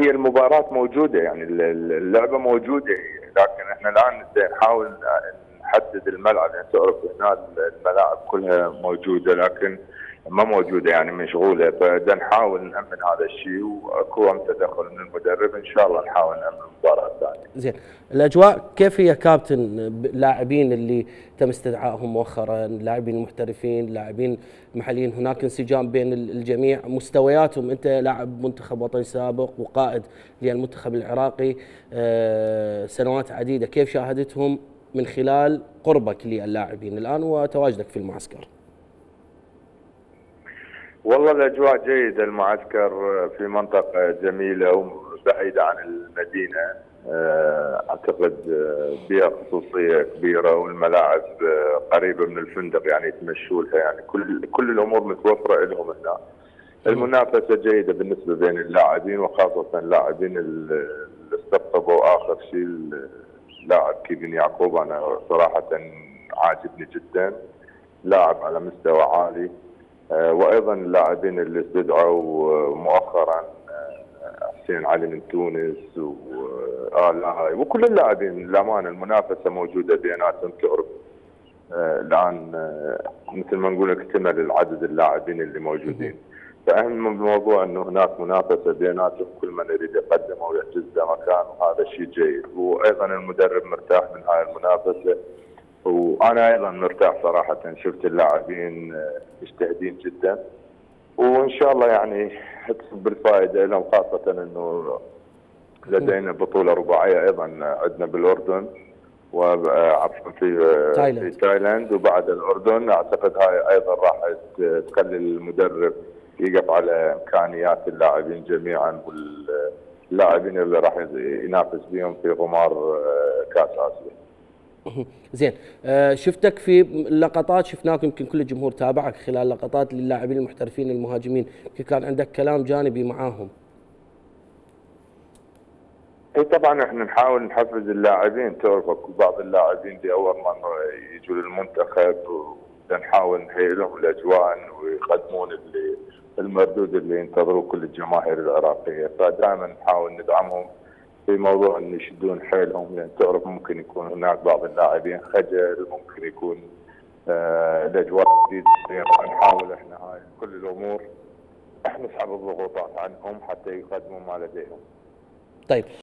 هي المباراة موجودة، يعني اللعبة موجودة، لكن احنا الان نحاول نحدد الملعب. يعني تعرف هنا الملاعب كلها موجودة لكن ما موجودة، يعني مشغولة، فبدنا نحاول نأمن هذا الشيء، واكو تدخل من المدرب ان شاء الله نحاول نأمن المباراة الثانية. زين، الاجواء كيف هي كابتن؟ اللاعبين اللي تم استدعائهم مؤخرا، اللاعبين المحترفين، اللاعبين المحليين، هناك انسجام بين الجميع، مستوياتهم، انت لاعب منتخب وطني سابق وقائد للمنتخب العراقي سنوات عديدة، كيف شاهدتهم من خلال قربك للاعبين الان وتواجدك في المعسكر؟ والله الاجواء جيده، المعسكر في منطقه جميله وبعيده عن المدينه، اعتقد بها خصوصيه كبيره، والملاعب قريبه من الفندق يعني يتمشوا لها، يعني كل الامور متوفره لهم هنا. المنافسه جيده بالنسبه بين اللاعبين، وخاصه اللاعبين اللي استقطبوا اخر شيء اللاعب كيفن يعقوب، انا صراحه عاجبني جدا، لاعب على مستوى عالي. وايضا اللاعبين اللي استدعوا مؤخرا حسين علي من تونس وكل اللاعبين، للامانه المنافسه موجوده بيناتهم. تعرف الان مثل ما نقول اكتمل العدد اللاعبين اللي موجودين، فاهم الموضوع انه هناك منافسه بيناتهم، كل من يريد يقدم او يحجز له مكان، وهذا شيء جيد. وايضا المدرب مرتاح من هاي المنافسه، وانا ايضا مرتاح صراحه، شفت اللاعبين مجتهدين جدا، وان شاء الله يعني تصب بالفائده لهم، خاصه انه لدينا بطوله رباعيه ايضا عندنا بالاردن وعفوا في تايلاند وبعد الاردن. اعتقد هاي ايضا راح تخلي المدرب يقف على امكانيات اللاعبين جميعا، واللاعبين اللي راح ينافس بهم في غمار كاس اسيا. زين، شفتك في لقطات، شفناك يمكن كل الجمهور تابعك خلال لقطات للاعبين المحترفين المهاجمين، كان عندك كلام جانبي معاهم. اي طبعا احنا نحاول نحفز اللاعبين، تعرف بعض اللاعبين دي اول مره يجوا للمنتخب، ونحاول نهيئ لهم الاجواء ويقدمون المردود اللي ينتظروه كل الجماهير العراقيه، فدائما نحاول ندعمهم في موضوع ان يشدون حيلهم، لان تعرف ممكن يكون هناك بعض اللاعبين خجل، ممكن يكون الاجواء جديده، نحاول احنا هاي كل الامور نسحب الضغوطات عنهم حتى يقدموا ما لديهم. طيب